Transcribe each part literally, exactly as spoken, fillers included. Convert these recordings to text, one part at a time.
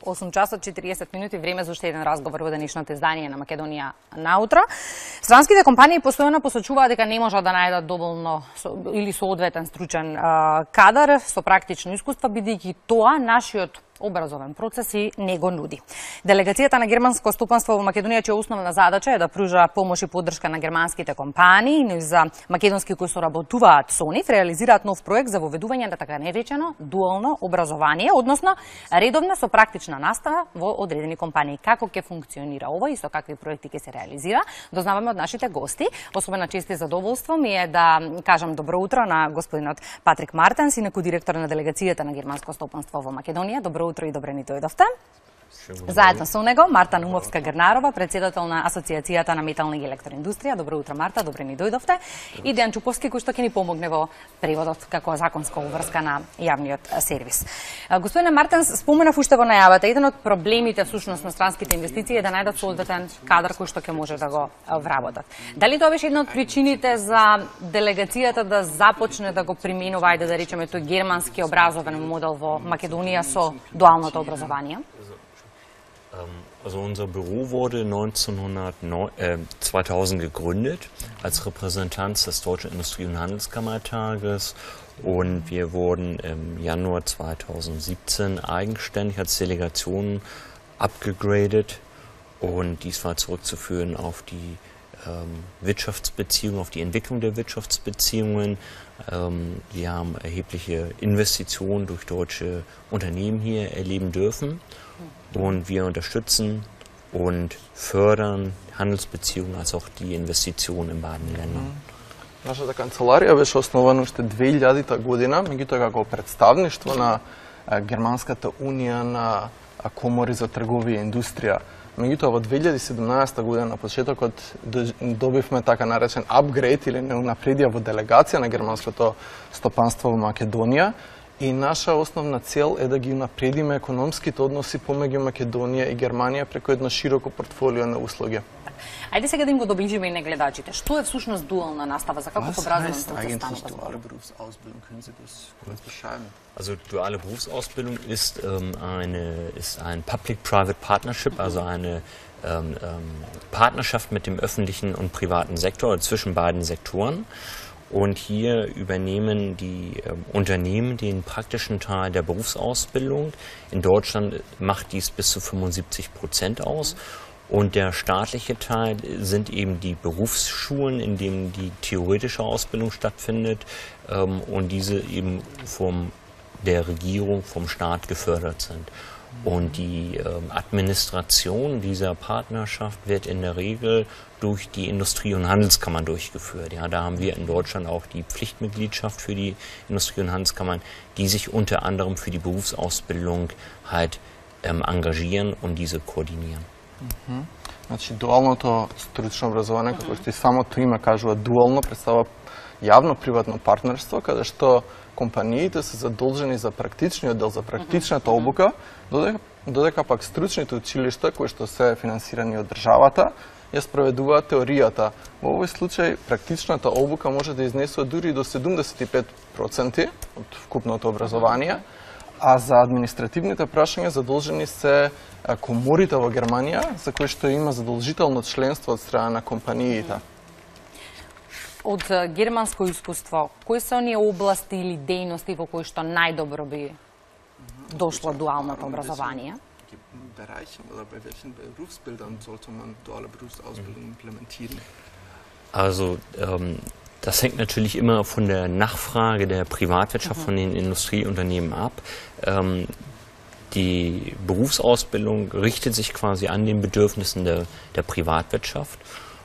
осум часот четириесет минути, време за уште еден разговор во денешното издание на Македонија наутро. Странските компании постојано посочуваат дека не можат да најдат доволно или соодветен стручен а, кадар со практично искуство, бидејќи тоа нашиот образовен процес и не го нуди. Делегацијата на германско стопанство во Македонија, чија основна задача е да пружа помош и поддршка на германските компании, но и за македонски кои соработуваат со нив, реализираат нов проект за воведување на така наречено дуално образование, односно редовна со практична настава во одредени компании. Како ќе функционира ова и со какви проекти ќе се реализира, дознаваме од нашите гости. Особена чест и задоволство ми е да кажам добро утро на господинот Патрик Мартенс, инаку директор на делегацијата на германско стопанство во Македонија. Добро утро и добре ни дојдовте. Заедно со него Марта Нумовска-Грнарова, председател на Асоциацијата на метална и електроиндустрија. Добро утро, Марта, добре ни дојдовте. И Дејан Чуповски, кој што ќе ни помогне во преводот како законска уврска на јавниот сервис. Господине Мартенс, споменав уште во најавата, еден од проблемите всушност на странските инвестиции е да најдат соодветен кадар кој што ќе може да го вработат. Дали тоа беше една од причините за делегацијата да започне да го применува, ајде да речеме тој германски образовен модел во Македонија со дуалното образование? Also unser Büro wurde zweitausend gegründet als Repräsentanz des Deutschen Industrie- und Handelskammertages und wir wurden im Januar zweitausendsiebzehn eigenständig als Delegation abgegradet und dies war zurückzuführen auf die ähm, Wirtschaftsbeziehungen, auf die Entwicklung der Wirtschaftsbeziehungen. Ähm, wir haben erhebliche Investitionen durch deutsche Unternehmen hier erleben dürfen. Und wir unterstützen und fördern Handelsbeziehungen als auch die Investitionen in beiden Ländern. Нашата канцеларија беше основана уште две илјадита година, меѓутоа како представништво на Германската унија на комори за трговија и индустрија. Меѓутоа во две илјади и седумнаесета година на почетокот добивме така наречен апгрейд или неунапредија во делегација на германското стопанство во Македонија. И наша основна цел е да ги напредиме економските односи помеѓу Македонија и Германија преку едно широко портфолио на услуги. Ајде сега да им го доближиме и на гледачите. Што е всушност дуална настава? За каков образовен процес станува збор? Also duale Berufsausbildung ist ähm, eine ist ein Public-Private Partnership, also eine ähm, ähm, Partnerschaft mit dem öffentlichen und privaten Sektor, zwischen beiden Sektoren. Und hier übernehmen die äh, Unternehmen den praktischen Teil der Berufsausbildung. In Deutschland macht dies bis zu fünfundsiebzig Prozent aus. Und der staatliche Teil sind eben die Berufsschulen, in denen die theoretische Ausbildung stattfindet ähm, und diese eben von der Regierung, vom Staat gefördert sind. Und die ähm, Administration dieser Partnerschaft wird in der Regel durch die Industrie- und Handelskammern durchgeführt. Ja, da haben wir in Deutschland auch die Pflichtmitgliedschaft für die Industrie- und Handelskammern, die sich unter anderem für die Berufsausbildung halt ähm, engagieren und diese koordinieren. Mm-hmm. Значи, дуалното стручно образование, како што и самото име кажува, дуално представува јавно-приватно партнерство, каде што компаниите се задолжени за практичниот дел, за практичната обука, додека, додека пак стручните училишта, кои што се финансирани од државата, ја спроведуваат теоријата. Во овој случај, практичната обука може да изнесува дури до седумдесет и пет проценти од вкупното образование, а за административните прашања задолжени се коморите во Германија, за кои што има задолжително членство од страна на компаниите. Од германско искуство, кои се оние области или дејности во кои што најдобро би дошло дуалното образование? Bereichen oder bei welchen Berufsbildern sollte man duale Berufsausbildung implementieren? Also ähm, das hängt natürlich immer von der Nachfrage der Privatwirtschaft, mhm. von den Industrieunternehmen ab. Ähm, die Berufsausbildung richtet sich quasi an den Bedürfnissen der, der Privatwirtschaft.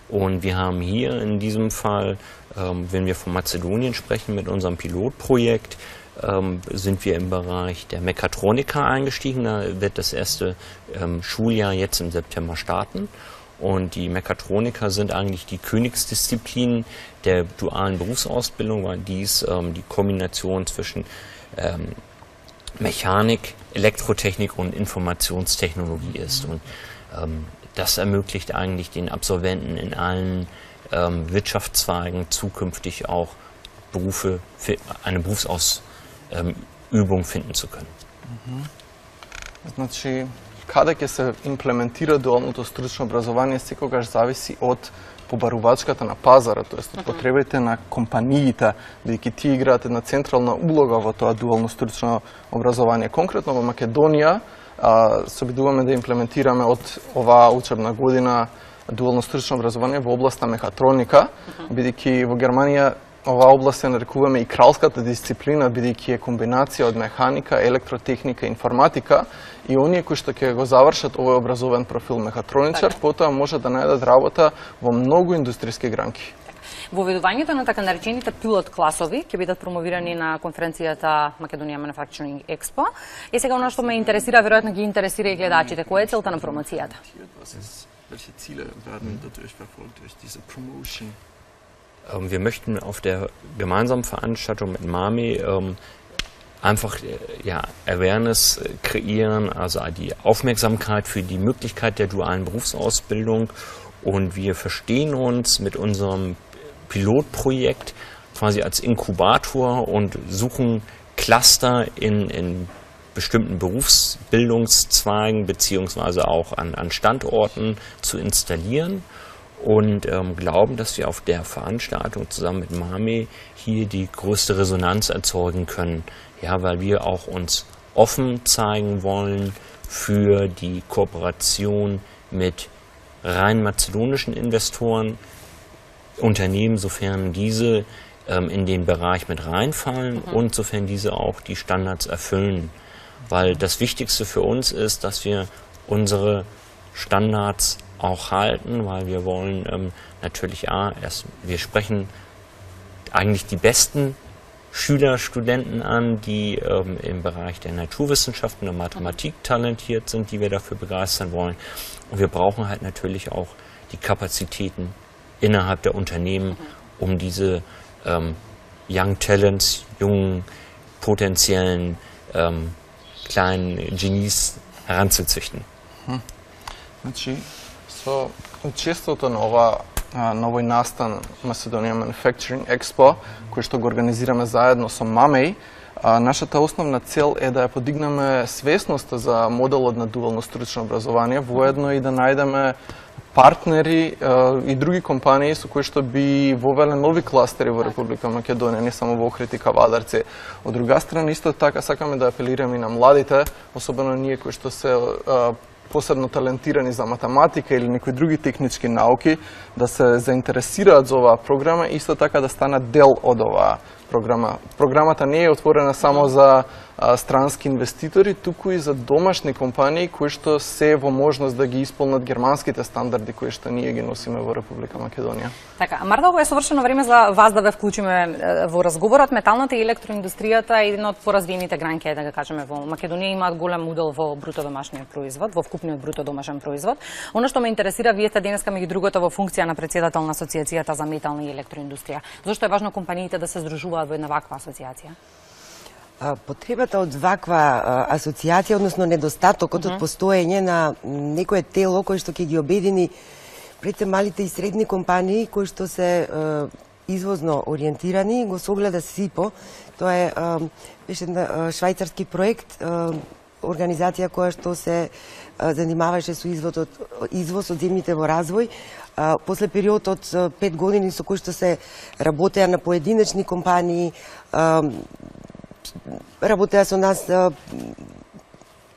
Und wir haben hier in diesem Fall, ähm, wenn wir von Mazedonien sprechen, mit unserem Pilotprojekt, ähm, sind wir im Bereich der Mechatroniker eingestiegen. Da wird das erste ähm, Schuljahr jetzt im September starten. Und die Mechatroniker sind eigentlich die Königsdisziplin der dualen Berufsausbildung, weil dies ähm, die Kombination zwischen ähm, Mechanik, Elektrotechnik und Informationstechnologie ist. Und ähm, das ermöglicht eigentlich den Absolventen in allen ähm, Wirtschaftszweigen zukünftig auch Berufe, eine Berufsausübung finden zu können. Mhm. Значи, каде ќе се имплементира дуалното стручно образование секогаш зависи од побарувачката на пазарот, тоест од потребите на компаниите, бидејќи тие играат една централна улога во тоа дуално стручно образование. Конкретно во Македонија се обидуваме да имплементираме од оваа учебна година дуално стручно образование во областа мехатроника, бидејќи во Германија оваа област ја нарекуваме и кралската дисциплина, бидејќи е комбинација од механика, електротехника, информатика, и оние кои што ќе го завршат овој образовен профил мехатроничар, потоа може да најдат работа во многу индустријски гранки. Воведувањето на така наречените пилот класови ќе бидат промовирани на конференцијата Македонија Manufacturing Expo. И сега оно што ме интересира, веројатно ги интересира и гледачите, која е целта на промоцијата? Welche Ziele werden dadurch verfolgt durch diese Promotion? Ähm, wir möchten auf der gemeinsamen Veranstaltung mit MAMI ähm, einfach äh, ja, Awareness kreieren, also die Aufmerksamkeit für die Möglichkeit der dualen Berufsausbildung. Und wir verstehen uns mit unserem Pilotprojekt quasi als Inkubator und suchen Cluster in, in bestimmten Berufsbildungszweigen beziehungsweise auch an, an Standorten zu installieren und ähm, glauben, dass wir auf der Veranstaltung zusammen mit MAMI hier die größte Resonanz erzeugen können, ja, weil wir auch uns offen zeigen wollen für die Kooperation mit rein mazedonischen Investoren, Unternehmen, sofern diese ähm, in den Bereich mit reinfallen mhm. und sofern diese auch die Standards erfüllen. Weil das Wichtigste für uns ist, dass wir unsere Standards auch halten, weil wir wollen ähm, natürlich A, erst, wir sprechen eigentlich die besten Schüler, Studenten an, die ähm, im Bereich der Naturwissenschaften und Mathematik talentiert sind, die wir dafür begeistern wollen. Und wir brauchen halt natürlich auch die Kapazitäten innerhalb der Unternehmen, um diese ähm, Young Talents, jungen, potenziellen ähm, kleinen Genies heranzuzüchten. Значи, со учеството на ова на овој настан Macedonian Manufacturing Expo, кој што го организираме заедно со МАМЕЙ, нашата основна цел е да ја подигнеме свесноста за моделот на дуално стручно образование, воедно и да најдеме партнери и други компании со кои што би вовеле нови кластери во Република Македонија, не само во Охрид и Кавадарци. Од друга страна, исто така сакаме да апелираме и на младите, особено ние кои што се посебно талентирани за математика или некои други технички науки, да се заинтересираат за оваа програма и исто така да станат дел од оваа програма. Програмата не е отворена само за а, странски инвеститори, туку и за домашни компании кои што се во можност да ги исполнат германските стандарди кои што ние ги носиме во Република Македонија. Така, Марта, ова е совршено време за вас да ве вклучиме во разговорот. Металната и електроиндустријата е една од поразвиените гранки, да го кажеме, во Македонија имаат голем удел во бруто домашниот производ, во вкупниот бруто домашен производ. Оно што ме интересира, вие сте денеска меѓу другото во функција на претседател на Асоциацијата за метална и електроиндустрија. Зошто е важно компаниите да се здружуваат во една ваква асоциација? Потребата од ваква асоциација, односно недостатокот од постоење на некое тело кој што ќе ги обедини пред се малите и средни компании кои што се извозно ориентирани, го согледа СИПО. Тоа е беше швајцарски проект, организација која што се занимаваше со извоз од извоз од земјите во развој. После период од пет години со кои што се работеа на поединечни компании, работеа со нас,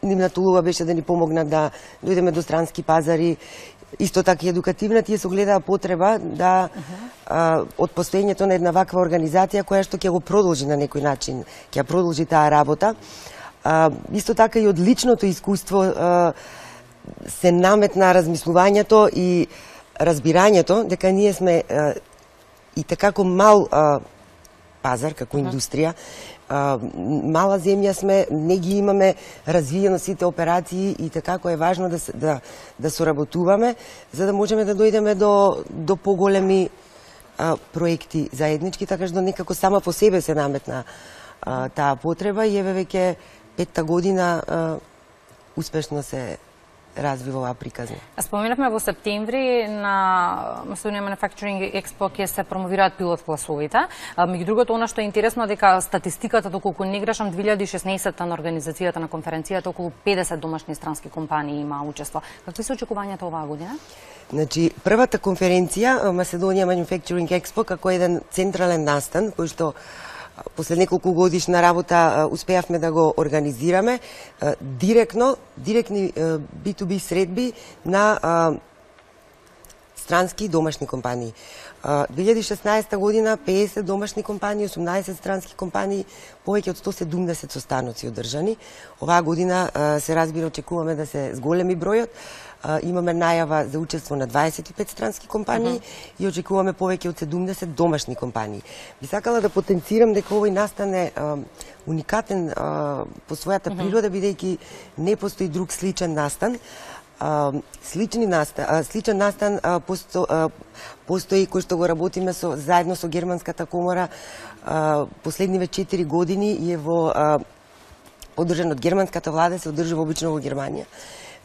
нивната улога беше да ни помогнат да дојдеме до странски пазари, исто така и едукативна, тие се гледаа потреба да а, од постоењето на една ваква организација која што ќе го продолжи на некој начин, ќе продолжи таа работа. А, исто така и од личното искуство а, се наметна размислувањето и разбирањето дека ние сме а, и така како мал а, пазар, како индустрија, а, мала земја сме, не ги имаме развиено сите операции и така кој е важно да, да, да соработуваме, за да можеме да дојдеме до, до поголеми а, проекти заеднички, така што некако сама по себе се наметна а, таа потреба и еве веќе петта година а, успешно се развива оваа приказна. Споменавме во септември на Macedonian Manufacturing Expo ќе се промовираат пилот класовите. Меѓу другото, она што е интересно дека статистиката, доколку не грешам, две илјади и шеснаесетта на организацијата на конференцијата околу педесет домашни странски компании има учество. Какви се очекувањата оваа година? Значи, првата конференција Macedonian Manufacturing Expo како еден централен настан кој што после неколку годишна работа успеавме да го организираме директно, директни би ту би средби на странски и домашни компании. две илјади и шеснаесетта година педесет домашни компании, осумнаесет странски компании, повеќе од сто седумдесет состаноци одржани. Оваа година се разбира очекуваме да се зголеми бројот. Имаме најава за учество на дваесет и пет странски компании uh -huh. и очекуваме повеќе од седумдесет домашни компании. Би сакала да потенцирам дека овој настан е а, уникатен а, по својата uh -huh. природа, бидејќи не постои друг сличен настан. А, слични настан, а, сличен настан а, посто, а, постои кој што го работиме со, заедно со Германската комора а, последниве четири години и е во а, одржан од германската влада, се одржува обично во Германија,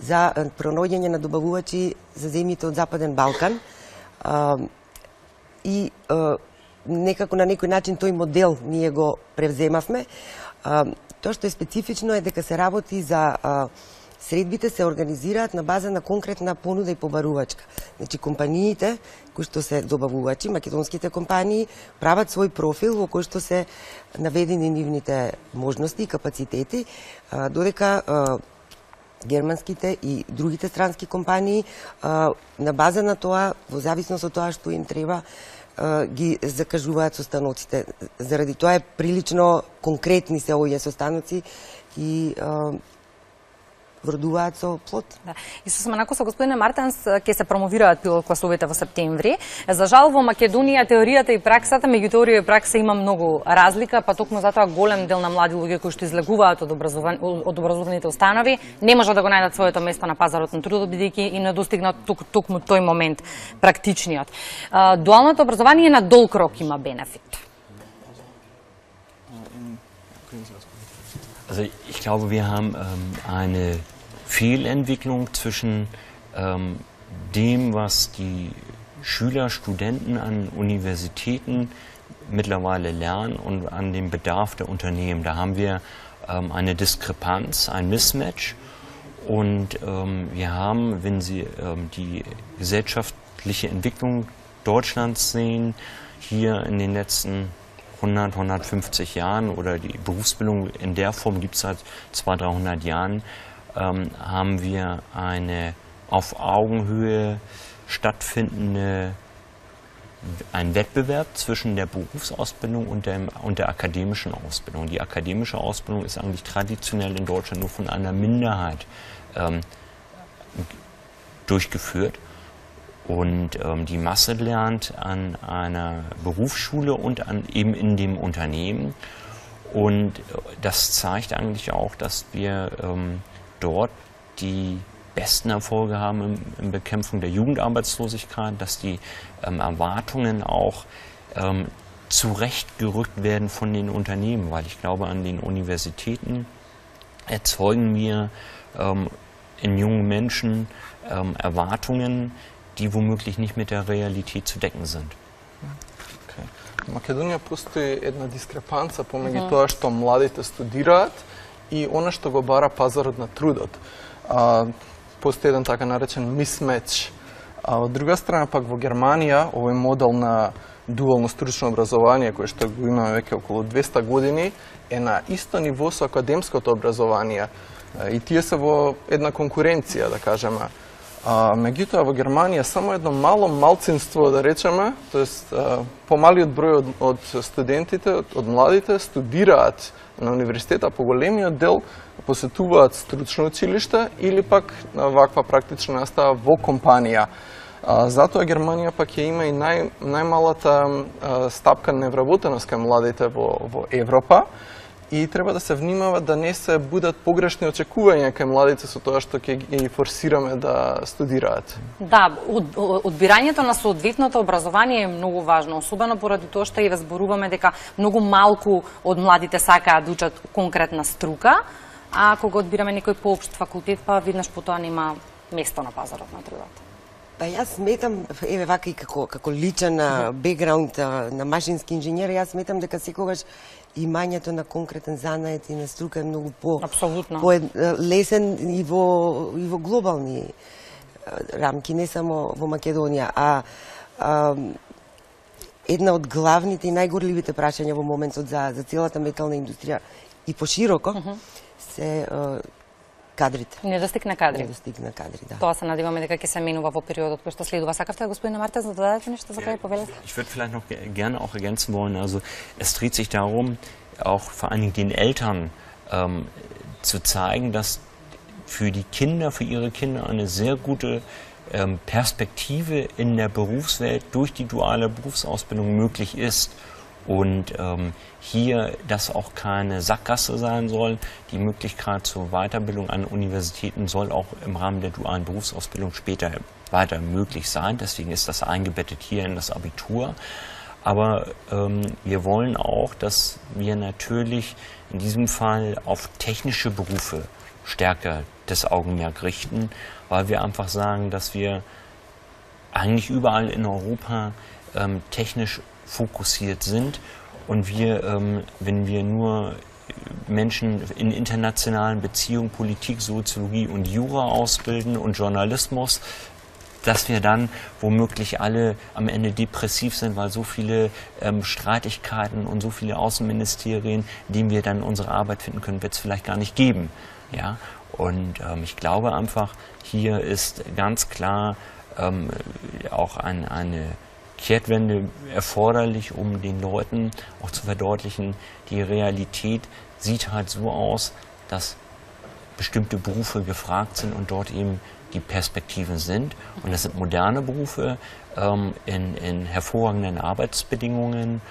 за пронаоѓање на добавувачи за земјите од Западен Балкан. А, и а, некако на некој начин тој модел ние го превземавме. А, тоа што е специфично е дека се работи за а, средбите се организираат на база на конкретна понуда и побарувачка. Значи, компаниите кои што се добавувачи, македонските компании, прават свој профил во кој што се наведени нивните можности и капацитети, а, додека а, германските и другите странски компании а, на база на тоа, во зависност од тоа што им треба, а, ги закажуваат состаноците. Заради тоа е прилично конкретни се овие состаноци и а, вродуваат со плод. Да. И со сменако со господине Мартенс ќе се промовираат пилот класовите во септември. За жал во Македонија теоријата и праксата, меѓу теорија и пракса има многу разлика, па токму затоа голем дел на млади луѓе кои што излегуваат од, образован... од образовните установи не можат да го најдат своето место на пазарот на трудот, бидејќи и не достигнат тук, токму тој момент практичниот. Дуалното образование на долг рок има бенефит. Also ich glaube, wir haben ähm, eine Fehlentwicklung zwischen ähm, dem, was die Schüler, Studenten an Universitäten mittlerweile lernen und an dem Bedarf der Unternehmen. Da haben wir ähm, eine Diskrepanz, ein Mismatch. Und ähm, wir haben, wenn Sie ähm, die gesellschaftliche Entwicklung Deutschlands sehen, hier in den letzten hundert, hundertfünfzig Jahren oder die Berufsbildung in der Form gibt es seit zweihundert, dreihundert Jahren, ähm, haben wir eine auf Augenhöhe stattfindende ein Wettbewerb zwischen der Berufsausbildung und, dem, und der akademischen Ausbildung. Die akademische Ausbildung ist eigentlich traditionell in Deutschland nur von einer Minderheit ähm, durchgeführt. Und ähm, die Masse lernt an einer Berufsschule und an, eben in dem Unternehmen. Und das zeigt eigentlich auch, dass wir ähm, dort die besten Erfolge haben in, in Bekämpfung der Jugendarbeitslosigkeit, dass die ähm, Erwartungen auch ähm, zurechtgerückt werden von den Unternehmen. Weil ich glaube, an den Universitäten erzeugen wir ähm, in jungen Menschen ähm, Erwartungen, die womöglich nicht mit der Realität zu decken sind. Okay. В Македонија постои една дискрепанца помеѓу тоа што младите студираат и она што го бара пазарот на трудот. А, постои еден така наречен mismatch. А од друга страна пак во Германија овој модел на дуално стручно образование кој што го имаме веќе околу двесте години е на исто ниво со академското образование. И тие се во една конкуренција, да кажеме. А, меѓутоа во Германија само едно мало малцинство, да речеме, тоест помалиот број од, од студентите, од, од младите студираат на универзитета, по големиот дел посетуваат стручно училиште или пак ваква практична настава во компанија. А, затоа Германија пак ја има и нај, најмалата а, стапка невработеност кај младите во, во Европа. И треба да се внимава да не се будат погрешни очекувања кај младите со тоа што ќе ги форсираме да студираат. Да, од, одбирањето на соодветното образование е многу важно, особено поради тоа што и разборуваме дека многу малку од младите сакаат да учат конкретна струка, а кога одбираме некој поопшт факултет, па веднаш потоа нема место на пазарот на трудот? Па јас сметам, еве вака и како, како личен бекграунд на машински инженер, јас сметам дека секогаш имањето на конкретен занает и на струка е многу по, по лесен и во, и во глобални рамки, не само во Македонија, а, а една од главните и најгорливите прашања во моментот за, за целата метална индустрија и пошироко uh -huh. се а, кадрите. Недостиг на кадри. Недостиг на кадри, да. Тоа се надеваме дека ќе се менува во периодот кој што следува. Сакавте, господине Мартенс, да додадете нешто за крај, повелете? Ich würde vielleicht noch gerne auch ergänzen wollen, also es dreht sich darum, auch vor allen Dingen den Eltern ähm, zu zeigen, dass für die Kinder, für ihre Kinder eine sehr gute ähm, Perspektive in der Berufswelt durch die duale Berufsausbildung möglich ist. Und ähm, hier das auch keine Sackgasse sein soll. Die Möglichkeit zur Weiterbildung an Universitäten soll auch im Rahmen der dualen Berufsausbildung später weiter möglich sein. Deswegen ist das eingebettet hier in das Abitur. Aber ähm, wir wollen auch, dass wir natürlich in diesem Fall auf technische Berufe stärker das Augenmerk richten, weil wir einfach sagen, dass wir eigentlich überall in Europa ähm, technisch fokussiert sind und wir, ähm, wenn wir nur Menschen in internationalen Beziehungen, Politik, Soziologie und Jura ausbilden und Journalismus, dass wir dann womöglich alle am Ende depressiv sind, weil so viele ähm, Streitigkeiten und so viele Außenministerien, in denen wir dann unsere Arbeit finden können, wird es vielleicht gar nicht geben. Ja? Und ähm, ich glaube einfach, hier ist ganz klar ähm, auch ein, eine Kehrtwende erforderlich, um den Leuten auch zu verdeutlichen, die Realität sieht halt so aus, dass bestimmte Berufe gefragt sind und dort eben die Perspektiven sind. Und das sind moderne Berufe ähm, in, in hervorragenden Arbeitsbedingungen.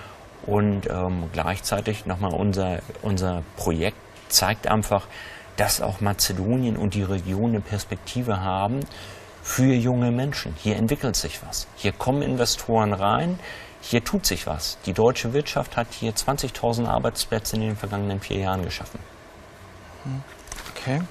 Und ähm, gleichzeitig nochmal unser, unser Projekt zeigt einfach, dass auch Mazedonien und die Region eine Perspektive haben für junge Menschen. Hier entwickelt sich was. Hier kommen Investoren rein. Hier tut sich was. Die deutsche Wirtschaft hat hier zwanzigtausend Arbeitsplätze in den vergangenen vier Jahren geschaffen. Okay.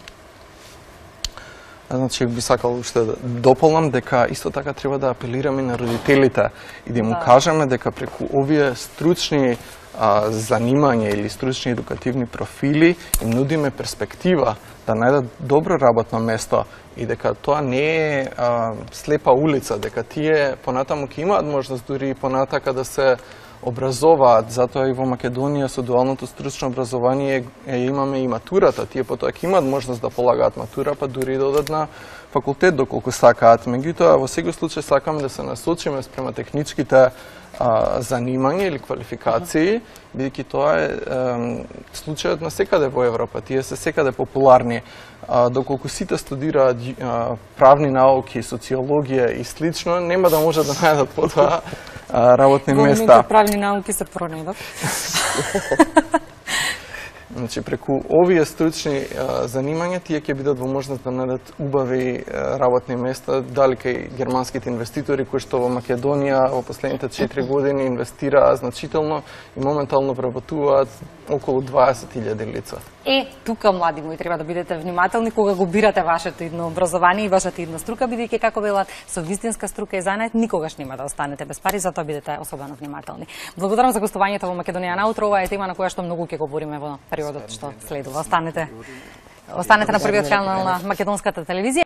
Значи, би сакал уште да дополнам дека исто така треба да апелираме на родителите и да му да. кажеме дека преку овие стручни а, занимања или стручни едукативни профили им нудиме перспектива да најдат добро работно место и дека тоа не е а, слепа улица, дека тие понатаму ќе имаат можност дури и понатака да се образоваат, затоа и во Македонија со дуалното стручно образование е, имаме и матурата, тие потоа ќе имаат можност да полагаат матура, па дури да одат на факултет доколку сакаат. Меѓутоа, во секој случај сакаме да се насочиме спрема техничките а, занимања или квалификации, бидејќи тоа е, е случајот на секаде во Европа, тие се секаде популарни. А, доколку сите студираат а, правни науки, социологија и слично, нема да можат да најдат потоа работни Во места. Во моментот правни науки се пронедат. Значи, преку овие стручни а, занимања, тие ќе бидат во можност да најдат убави а, работни места, дали кај германските инвеститори кои што во Македонија во последните четири години инвестираа значително и моментално вработуваат околу дваесет илјади лица. Е, тука, млади мои, треба да бидете внимателни кога го бирате вашето идно образование и вашата идна струка, бидејќи, како велат, со вистинска струка и занает никогаш нема да останете без пари, затоа бидете особено внимателни. Благодарам за гостувањето во Македонија наутро. Ова е тема на која што многу ќе говориме во периодот што следува. Останете, останете на првиот канал на македонската телевизија.